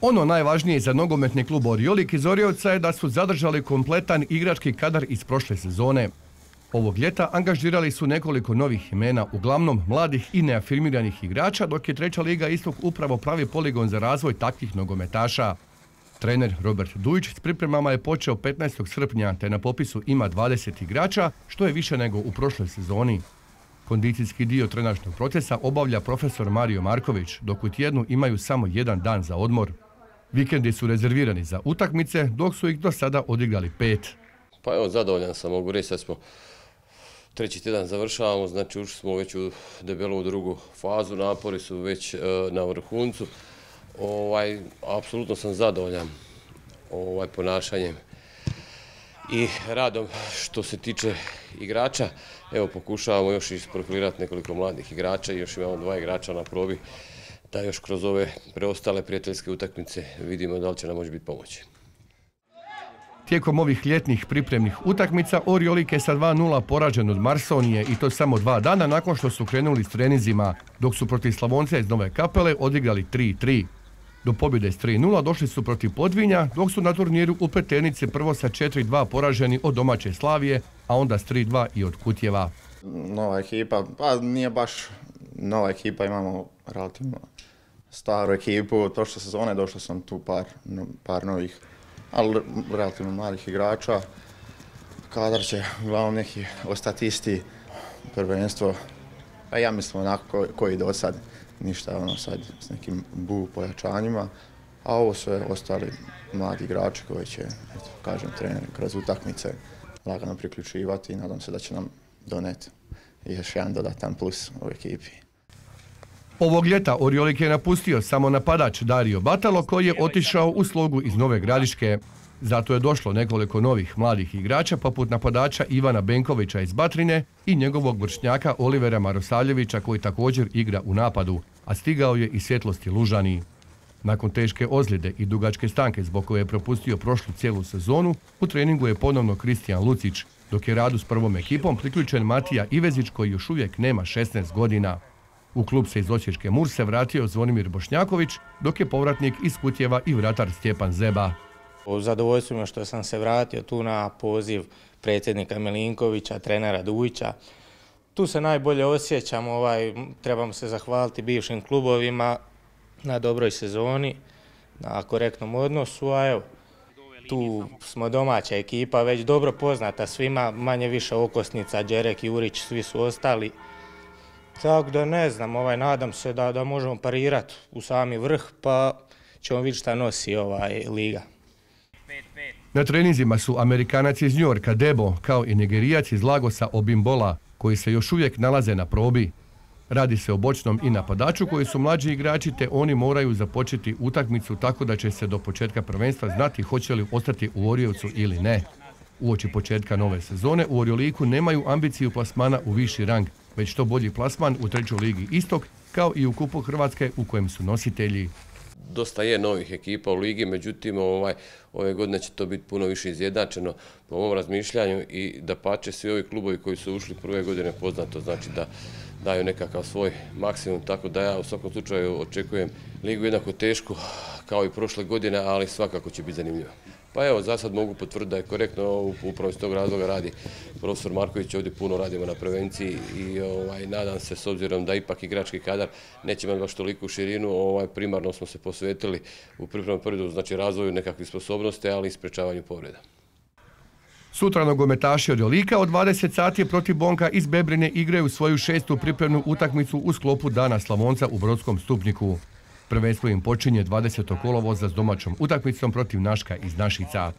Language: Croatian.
Ono najvažnije za nogometni klub Oriolik iz Oriovca je da su zadržali kompletan igrački kadar iz prošle sezone. Ovog ljeta angažirali su nekoliko novih imena, uglavnom mladih i neafirmiranih igrača, dok je treća liga Istok upravo pravi poligon za razvoj takvih nogometaša. Trener Robert Dujić s pripremama je počeo 15. srpnja, te na popisu ima 20 igrača, što je više nego u prošloj sezoni. Kondicijski dio trenažnog procesa obavlja profesor Mario Marković, dok u tjednu imaju samo jedan dan za odmor. Vikendi su rezervirani za utakmice, dok su ih do sada odigrali 5. Pa evo, zadovoljan sam, mogu reći, sad smo treći tjedan završavamo, znači ušli smo već u debelu drugu fazu, napori su već na vrhuncu. Apsolutno sam zadovoljan ponašanjem i radom što se tiče igrača. Evo, pokušavamo još isprofilirati nekoliko mladih igrača i još imamo 2 igrača na probi, da još kroz ove preostale prijateljske utakmice vidimo da li će nam moći biti pomoći. Tijekom ovih ljetnih pripremnih utakmica Oriolik je sa 2:0 poražen od Marsonije i to samo 2 dana nakon što su krenuli s treninzima, dok su protiv Slavonca iz Nove Kapele odigrali 3:3. Do pobjede s 3:0 došli su protiv Podvinja, dok su na turniru u Pleternici prvo sa 4:2 poraženi od domaće Slavije, a onda s 3:2 i od Kutjeva. Nova ekipa, pa nije baš nova ekipa, imamo relativno staru ekipu. Prošle sezone došao sam tu par novih, ali relativno mladih igrača. Kadar će uglavnom neki ostati isti, prvenstvo. Pa ja mislim onako koji do sad, ništa sad s nekim pojačanjima. A ovo su ostali mladi igrači koji će, kažem, trener kroz utakmice lagano priključivati i nadam se da će nam doneti još jedan dodatan plus u ekipi. Ovog ljeta Oriolik je napustio samo napadač Dario Batalo, koji je otišao u Slogu iz Nove Gradiške. Zato je došlo nekoliko novih mladih igrača poput napadača Ivana Benkovića iz Batrine i njegovog vršnjaka Olivera Marosavljevića, koji također igra u napadu, a stigao je iz Svjetlosti Lužani. Nakon teške ozljede i dugačke stanke zbog koje je propustio prošlu cijelu sezonu, u treningu je ponovno Kristijan Lucić, dok je radu s prvom ekipom priključen Matija Ivezić, koji još uvijek nema 16 godina. U klub se iz Osječke Murse vratio Zvonimir Bošnjaković, dok je povratnik iz Kutjeva i vratar Stjepan Zeba. Zadovoljstvo mi što sam se vratio tu na poziv predsjednika Milinkovića, trenera Dujića. Tu se najbolje osjećam, trebamo se zahvaliti bivšim klubovima na dobroj sezoni, na korektnom odnosu, a evo, tu smo domaća ekipa, već dobro poznata svima, manje više okosnica, Đerek, Jurić, svi su ostali. Tako da ne znam, nadam se da možemo parirati u sami vrh, pa ćemo vidjeti šta nosi liga. Na treninzima su Amerikanac iz Njorka Debo, kao i Nigerijac iz Lagosa Obimbola, koji se još uvijek nalaze na probi. Radi se o bočnom i napadaču koji su mlađi igrači, te oni moraju započeti utakmicu tako da će se do početka prvenstva znati hoće li ostati u Oriovcu ili ne. Uoči početka nove sezone u Orioliku nemaju ambiciju plasmana u viši rang, već što bolji plasman u trećoj ligi Istok, kao i u Kupu Hrvatske u kojem su nositelji. Dosta je novih ekipa u ligi, međutim ove godine će to biti puno više izjednačeno po mom razmišljanju i dapače svi ovi klubovi koji su ušli prve godine poznato znači da daju nekakav svoj maksimum, tako da ja u svakom slučaju očekujem ligu jednako tešku kao i prošle godine, ali svakako će biti zanimljivo. Pa evo, za sad mogu potvrditi da je korektno, upravo iz tog razloga radi profesor Marković, ovdje puno radimo na prevenciji i nadam se, s obzirom da ipak igrački kadar neće imati baš toliku širinu, primarno smo se posvetili u pripremnom periodu, znači razvoju nekakvih sposobnosti, ali i sprečavanju povreda. Sutra nogometaši Oriolika od 20 sati protiv Bonka iz Bebrine igraju svoju 6. pripremnu utakmicu u sklopu Dana Slavonca u Brodskom Stupniku. Prvenstvo im počinje 20. kolovoza s domaćom utakmicom protiv Naška iz Našica.